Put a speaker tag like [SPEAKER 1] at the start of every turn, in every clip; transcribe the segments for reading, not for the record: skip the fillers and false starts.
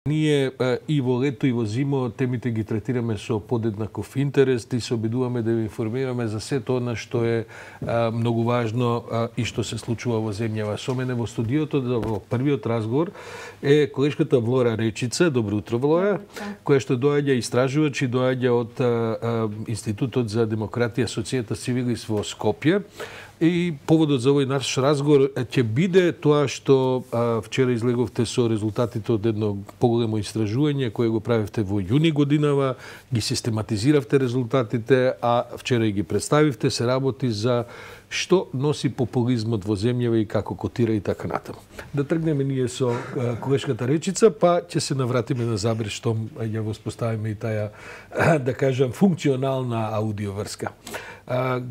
[SPEAKER 1] Ние и во лето и во зимо темите ги третираме со подеднаков интерес и се обидуваме да ви информираме за сето она што е многу важно и што се случува во земјава. Со мене во студиото во првиот разговор е колешката Влора Речица. Добро утро, Влора, која што доаѓа истражувач и доаѓа од Институтот за демократија Societas Civilis во Скопје. И поводот за овој наш разговор ќе биде тоа што вчера излеговте со резултатите од едно поголемо истражување кое го правевте во јуни годинава, ги систематизиравте резултатите, а вчера и ги представивте, се работи за што носи популизмот во земјава и како котира и така натаму. Да тргнеме ние со колешката Речица, па ќе се навратиме на Забреш штом ја воспоставиме и таа, да кажам, функционална аудиоврска.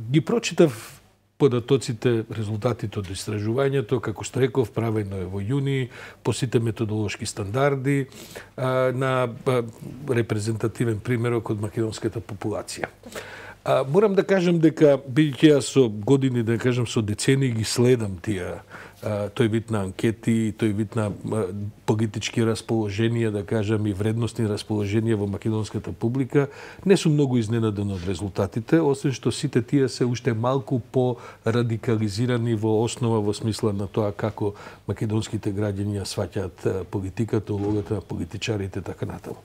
[SPEAKER 1] Ги прочитав податоците, резултатите од истражувањето, како што реков, правено е во јуни, по сите методолошки стандарди, на репрезентативен примерок од македонската популација. Морам да кажам дека, бидејќи јас со години, да кажам со децени, ги следам тие тој вид на анкети, тој вид на политички расположенија, да кажам, и вредностни расположенија во македонската публика, не сум многу изненаден од резултатите, освен што сите тие се уште малку по-радикализирани во основа, во смисла на тоа како македонските граѓани ја сваќаат политиката, улогата на политичарите, така натаму.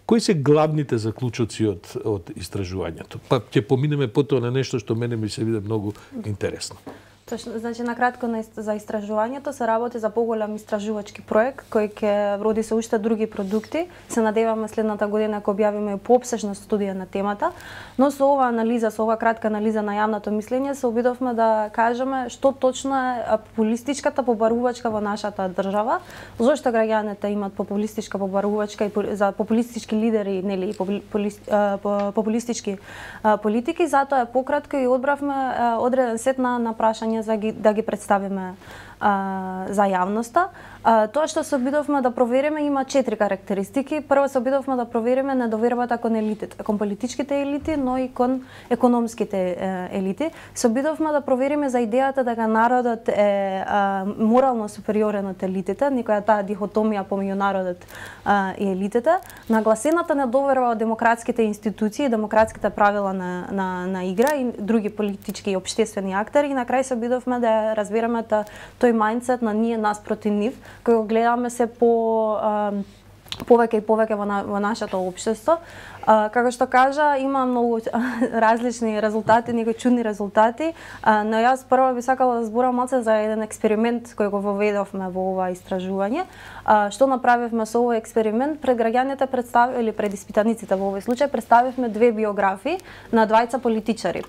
[SPEAKER 1] Кои се главните заклучоци од истражувањето? Па ќе поминеме потоа на нешто што мене ми се виде многу интересно.
[SPEAKER 2] Точно, значи накратко за истражувањето се работи за поголем истражувачки проект кој ќе роди се уште други продукти. Се надеваме следната година кога објавиме поопсежна студија на темата, но со ова анализа, со ова кратка анализа на јавното мислење се обидовме да кажеме што точно е популистичката побарувачка во нашата држава, зошто граѓаните имаат популистичка побарувачка и за популистички лидери, нели, популистички политики, затоа е пократко и одбравме одреден сет на прашања да ги представиме за јавноста. Тоа што се обидовме да провериме има 4 карактеристики. Прво се обидовме да провериме недовербата кон елитите, кон политичките елити, но и кон економските елити. Се обидовме да провериме за идејата дека народот е морално супериорен од елитите, никоја таа дихотомија помеѓу народот и елитите, нагласената недоверба од демократските институции, демократските правила на игра и други политички и општествени актери, и на крај се обидовме да разбереме тој мајндсет на ние нас проти нив, кога гледаме се повеќе и повеќе во нашето општество. Како што кажа, има многу различни резултати, некои чудни резултати, но јас прво би сакала да зборам малце за еден експеримент кој го воведовме во ова истражување. Што направивме со овој експеримент? Пред граѓаните или пред испитаниците во овој случај представивме 2 биографии на двајца политичари.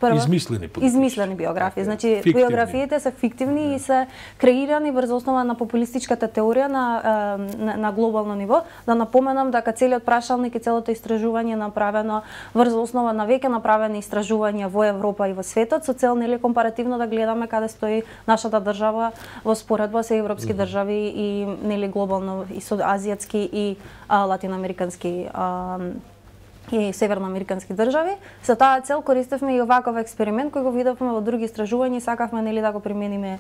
[SPEAKER 2] Измислени биографии. Значи биографиите се фиктивни и се креирани врз основа на популистичката теорија на глобално ниво. Да напоменам дека целиот прашалник и целото истражување направено врз основа на веќе направени истражувања во Европа и во светот со цел нели компаративно да гледаме каде стои нашата држава во споредба со европски држави и нели глобално и со азијатски и латиноамерикански и северноамерикански држави. За таа цел користевме и оваков експеримент кој го видовме во други истражувања и сакавме нели да го примениме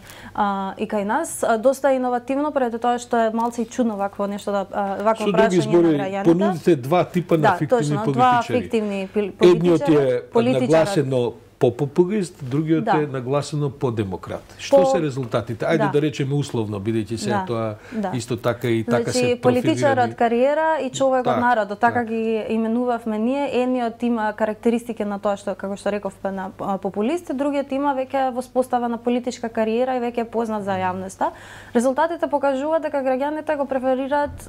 [SPEAKER 2] и кај нас. Доста иновативно пред тоа што е малце и чудно вакво нешто вакво прашање на граѓаните.
[SPEAKER 1] Понудите два типа на фиктивни политичари.
[SPEAKER 2] Два фиктивни политичари.
[SPEAKER 1] Едниот е нагласено по популист, другиот е нагласено по демократ. Што се резултатите? Ајде да речеме условно, бидејќи се тоа исто така и така се профилирани.
[SPEAKER 2] Политичарот кариера и човекот народот, така ги именувавме ние. Едниот има карактеристики на тоа што, како што рековме, на популист, другиот има веќе воспоставена политичка кариера и веќе е познат за јавноста. Резултатите покажуваат дека граѓаните го преферираат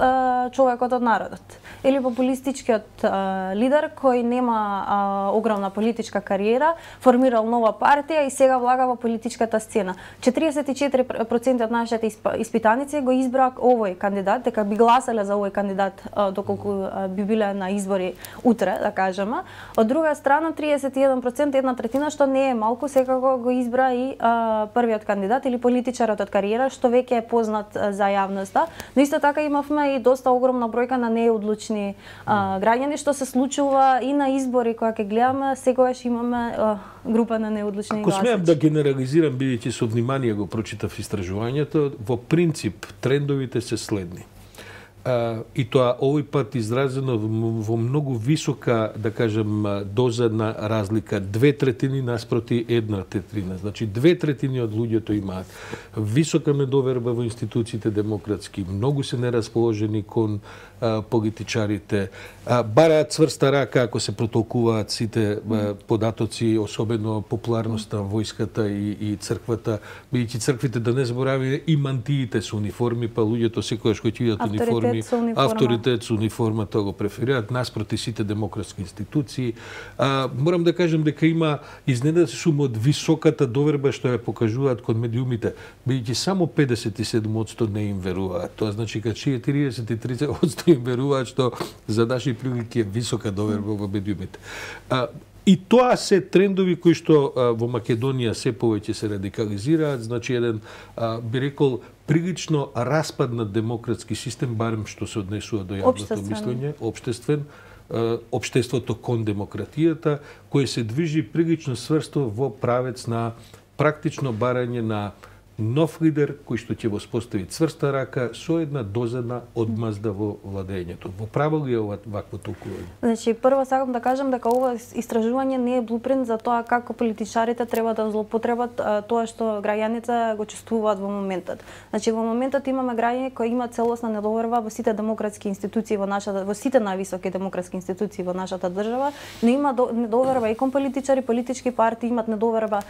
[SPEAKER 2] човекот од народот или популистичкиот лидер кој нема огромна политичка кариера, формирал нова партија и сега влага во политичката сцена. 44% од нашите испитаници го избраа овој кандидат, дека би гласале за овој кандидат доколку би биле на избори утре, да кажеме. Од друга страна, 31%, една третина, што не е малку, секако го избра и првиот кандидат или политичарот од кариера, што веќе е познат за јавноста. Но исто така имавме и доста огромна бројка на неодлучни граѓани, што се случува и на избори кога ќе гледаме, секогаш имаме група на неодлучни гласачи.
[SPEAKER 1] Ако смеам да генерализирам, бидејќи со внимание го прочитав истражувањето, во принцип трендовите се следни. и тоа овој пат изразено во многу висока, да кажем, доза на разлика, 2/3 наспроти 1/3. Значи 2/3 од луѓето имаат висока недоверба во институциите демократски, многу се нерасположени кон политичарите, бараат цврста рака ако се протолкуваат сите податоци, особено популарноста војската и црквата, бидејќи црквите, да не забораваме, и мантиите со униформи, па луѓето секогаш кои видат униформи, авторитет со униформата го преферираат наспроти сите демократски институции. Морам да кажем дека има изненаден од високата доверба што ја покажуваат кон медиумите, бидејќи само 57% не им веруваат. Тоа значи дека 43% им веруваат, што за наши прилики е висока доверба во медиумите. И тоа се трендови кои што во Македонија се повеќе се радикализираат, значи еден, би рекол, прилично распаднат демократски систем, барем што се однесува до јавното мислење, општеството кон демократијата, кој се движи прилично сврсто во правец на практично барање на нов лидер кој што ќе воспостави цврста рака со една доза на одмазда во владењето. Во право ли е вакво толкување?
[SPEAKER 2] Значи, прво сакам да кажам дека ова истражување не е блупринт за тоа како политичарите треба да злоупотребат тоа што граѓаните го чувствуваат во моментот. Значи, во моментот имаме граѓани кои имаат целосна недоверба во сите демократски институции во сите највисоки демократски институции во нашата држава, но има недоверба и кон политичари, политички партии, имаат недоверба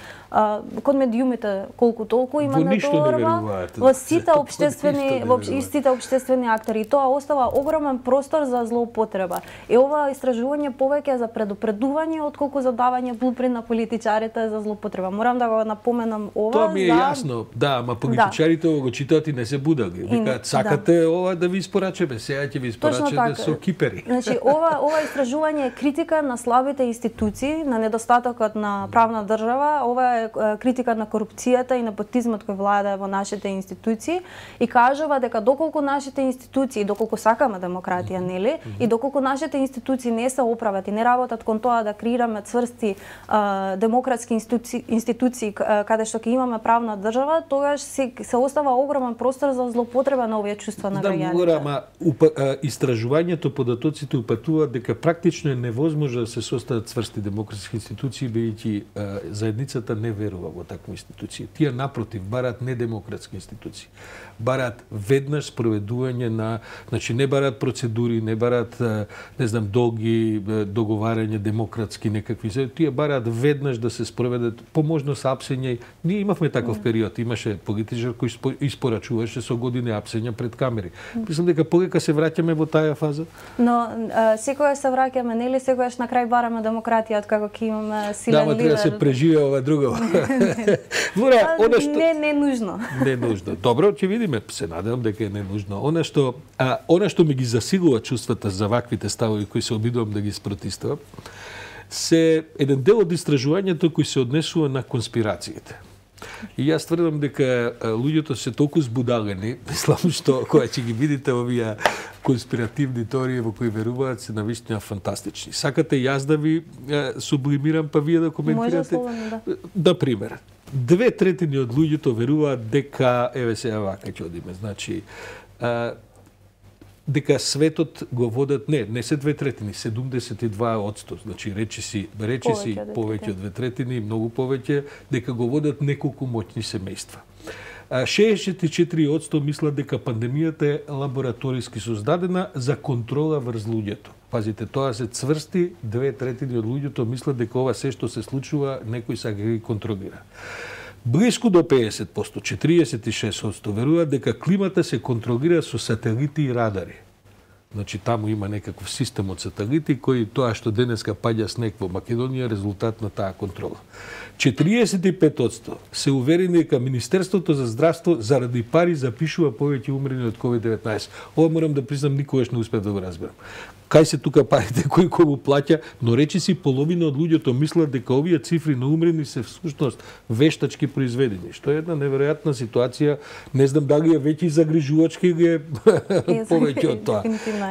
[SPEAKER 2] кон медиумите колку толку, има недоверба во сите општествени актери. И тоа остава огромен простор за злоупотреба. И ова истражување повеќе за предупредување отколку за давање блупринт на политичарите за злоупотреба. Морам да го напоменам ова.
[SPEAKER 1] Тоа ми е јасно, да, ама политичарите го читаат и не се будали. Викаат, сакате ова да ви испорачеме, сега ќе ви испорачеме со кипери.
[SPEAKER 2] Значи, ова истражување е критика на слабите институции, на недостатокот на правна држава, ова е критика на корупцијата и непотизмот кој владае во нашите институции и кажува дека доколку нашите институции, доколку сакаме демократија, нели, и доколку нашите институции не се оправат и не работат кон тоа да креираме цврсти демократски институции каде што ќе имаме правна држава, тогаш се остава огромен простор за злоупотреба на овие чувства на граѓаните.
[SPEAKER 1] Да, ама истражувањето, податоците упатуваат дека практично е невозможно да се состават цврсти демократски институции, бидејќи заедницата не верува во такви институции. Тие напротив бараат недемократски институции. Бараат веднаш спроведување на, значи не бараат процедури, не бараат, не знам, долги договарање демократски некакви, тие бараат веднаш да се спроведат по можност апсење. Ние имавме таков период, имаше политичар кој испорачуваше со години апсења пред камери. Мислам дека полека се враќаме во таа фаза.
[SPEAKER 2] Но секогаш се враќаме, нели, секогаш на крај бараме демократија откако ќе имаме силен лидер.
[SPEAKER 1] Да, треба да се преживее ова друго.
[SPEAKER 2] Не нужно.
[SPEAKER 1] Не нужно. Добро, ќе видиме, се надевам дека е ненужно. Она што ми ги засилува чувствата за ваквите ставови кои се обидувам да ги спротивствам, се еден дел од истражувањето кој се однесува на конспирациите. И јас тврдам дека луѓето се толку збудалени, мислам што кога ќе ги видите овие конспиративни теории во кои веруваат се навистина фантастични. Сакате јас да ви сублимирам па вие да коментирате? Да, пример. 2/3 од луѓето веруваат дека, еве сега вака ќе одиме, значи дека светот го водат, не се 2/3, 72%, значи речиси повеќе од 2/3, многу повеќе, дека го водат неколку моќни семејства. 64% мислат дека пандемијата е лабораториски создадена за контрола врз луѓето. Пазите, тоа се цврсти, 2/3 од луѓето мислат дека ова се што се случува, некој сака ги контролира. Блиску до 50%, 46% веруваат дека климата се контролира со сателити и радари. Значи, таму има некаков систем од сателити кои тоа што денеска паѓа снег во Македонија резултат на таа контрола. 45% се уверени дека Министерството за здравство заради пари запишува повеќе умрени од COVID-19. Ова морам да признам, никогаш не успев да го разберам. Кај се тука парите кој го плаќа, но речиси половина од луѓето мислат дека овие цифри на умрени се всушност вештачки произведени, што е една неверојатна ситуација. Не знам дали е веќе загрижувачки или е повеќе од тоа.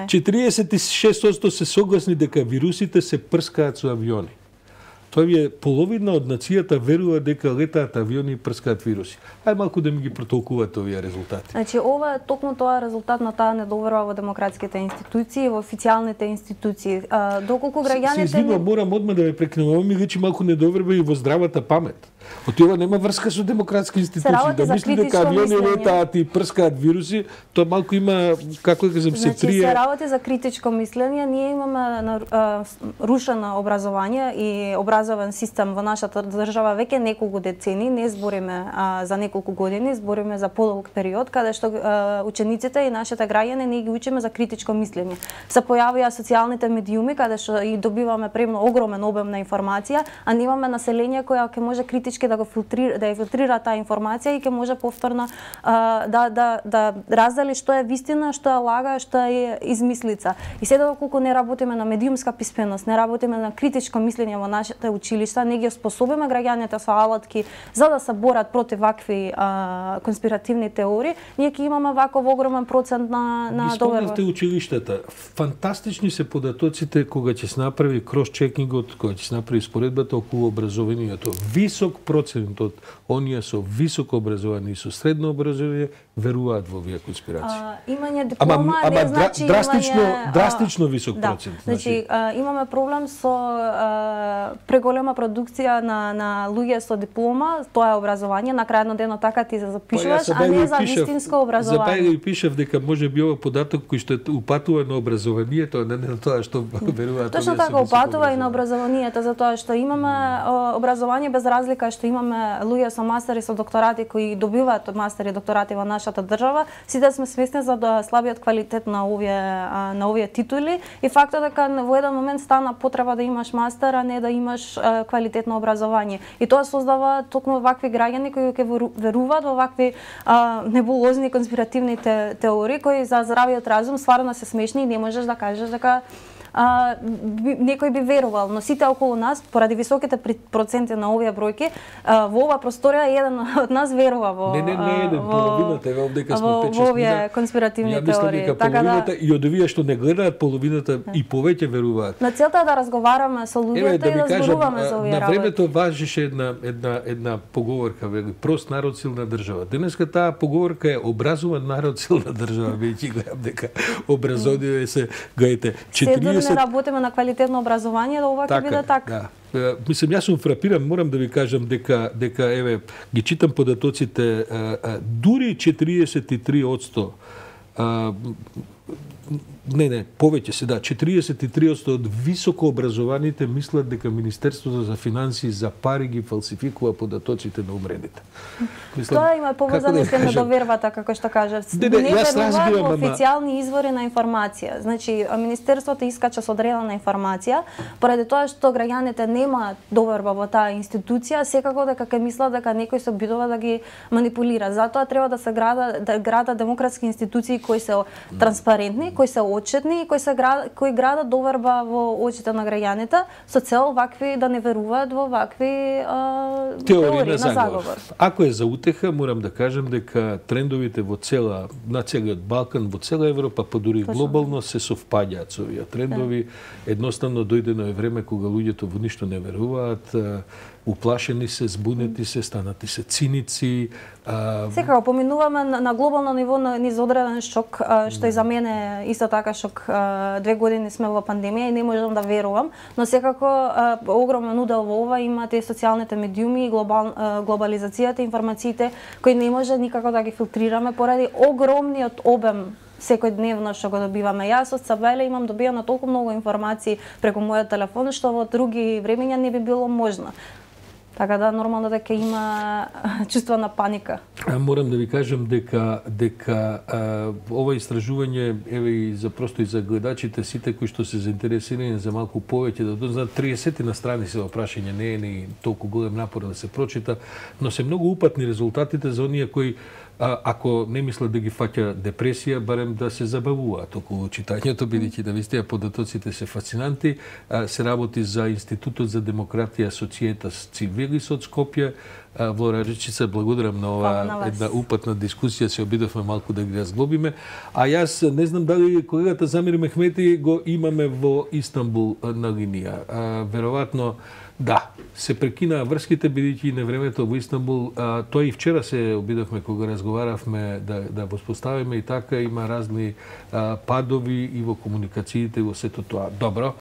[SPEAKER 1] 46% се согласни дека вирусите се прскаат со авиони. Тоа е половина од нацијата верува дека летаат авиони и прскаат вируси. Ај малку да ми ги протолкувате овие резултати.
[SPEAKER 2] Значи ова е токму тоа резултат на таа недоверба во демократските институции, во официјалните институции. Доколку граѓаните
[SPEAKER 1] се извинувам, морам одма да ме прекинувам, ова ми личи малку недоверба и во здравата памет. Ова нема врска со демократски институции. Да мисли дека авиони летаат и прскаат вируси, тоа малку има, како да кажам, се трие.
[SPEAKER 2] Значи, се работи за критичко мислење. Ние имаме рушено образование и образовен систем во нашата држава веќе неколку децени. Не збориме за неколку години, збориме за подолг период, каде што учениците и нашите граѓани не ги учиме за критичко мислење. Се појавија социјалните медиуми, каде што и добиваме премно огромен обем на информација, а немаме население која ќе може критички да го филтрира таа информација и ќе може повторно да раздели што е вистина, што е лага, што е измислица. И сега доколку не работиме на медиумска писменост, не работиме на критичко мислење во нашите училишта, не ги способиме граѓаните со алатки за да се борат против вакви конспиративни теории, ние ќе имаме ваков огромен процент на доверба.
[SPEAKER 1] Спомнавте училиштата. Фантастични се податоците кога ќе се направи крос-чекингот, кога ќе се направи споредбата околу образованието. Висок процент од оние со високо образование и со средно образование веруваат во овие конспирации.
[SPEAKER 2] Имање диплома не значи
[SPEAKER 1] драстично висок процент.
[SPEAKER 2] Значи имаме проблем со преголема продукција на луѓе со диплома, тоа е образование, на крајот на денот така ти се запишуваш, а не за вистинско образование.
[SPEAKER 1] За бајга и пишав дека може би ова податок кој што упатува на образованието, не на тоа што веруваат.
[SPEAKER 2] Точно така упатува и на образованието, затоа што имаме образование без разлика што имаме луѓе со мастери, со докторати кои добиваат мастери и докторати во нашата држава, сите сме свесни за слабиот квалитет на овие титули и фактот дека во еден момент стана потреба да имаш мастер, а не да имаш квалитетно образование. И тоа создава токму вакви граѓани кои ќе веруваат во вакви небулозни конспиративни теории кои за здравиот разум стварно се смешни и не можеш да кажеш дека некој би верувал, но сите околу нас, поради високите проценти на овие бројки, во ова просторија еден од нас верува во
[SPEAKER 1] половината е дека сме 5-6
[SPEAKER 2] во овие конспиративни теории.
[SPEAKER 1] Така да и од овие што не гледаат половината и повеќе веруваат.
[SPEAKER 2] На целта е да разговараме со луѓето и да зборуваме за овие работи.
[SPEAKER 1] На времето важеше една поговорка, вели, прост народ силна држава. Денеска таа поговорка е образован народ силна држава, веќе гледам дека образование се гајте 40
[SPEAKER 2] не работиме на квалитетно образование, да ова ќе биде така.
[SPEAKER 1] Да. Мислам, јас сум фрапиран, морам да ви кажам дека еве ги читам податоците, дури 43% повеќе се 43% од високо образованите мислат дека Министерството за финансии за пари ги фалсификува податоците на умредите.
[SPEAKER 2] Тоа има поврзано со недовербата, како што кажав. Не веруваат во официјални извори на информација. Значи, Министерството искача со одредена информација, поради тоа што граѓаните немаат доверба во таа институција, секако дека ќе мислат дека некој се обидува да ги манипулира. Затоа треба да се градат демократски институции кои се транспарентни, кои се отчетни и кои градат доверба во очите на граѓаните со цел вакви да не веруваат во вакви теории на заговор.
[SPEAKER 1] Ако е за утеха, морам да кажам дека трендовите на целиот Балкан, во цела Европа, па дури глобално се совпаѓаат со овие трендови. Едноставно дојдено е време кога луѓето во ништо не веруваат, уплашени се, збунети се, станати се циници.
[SPEAKER 2] Секако поминуваме на глобално ниво низ одреден шок, што и за мене исто така шок. 2 години сме во пандемија и не можам да верувам, но секако огромен удел во ова имаат и социјалните медиуми и глобализацијата, информациите кои не може никако да ги филтрираме поради огромниот обем секојдневно што го добиваме. Јас од Сабеле имам добиено толку многу информации преку мојот телефон што во други времења не би било можно. Така да нормално дека има чувство на паника.
[SPEAKER 1] Морам да ви кажам дека ова истражување еве и за гледачите сите кои што се заинтересирани за малку повеќе да дознаат 30 на страни се прашање, не е ни толку голем напор да се прочита, но се многу упатни резултатите за оние кои ако не мислат да ги фаќа депресија, барем да се забавуваат околу читањето, бидејќи навистина податоците се фасцинанти. Се работи за Институтот за демократија Societas Civilis од Скопје. Влора Речица, благодарам на ова една упатна дискусија, се обидовме малку да ги разглобиме. А јас не знам дали колегата Замир Мехмети го имаме во Истанбул на линија. Веројатно Да, се прекинаа врските бидејќи на времето во Истанбул, тоа и вчера се обидовме кога разговаравме да воспоставиме и така има разни падови и во комуникациите и во сето тоа. Добро,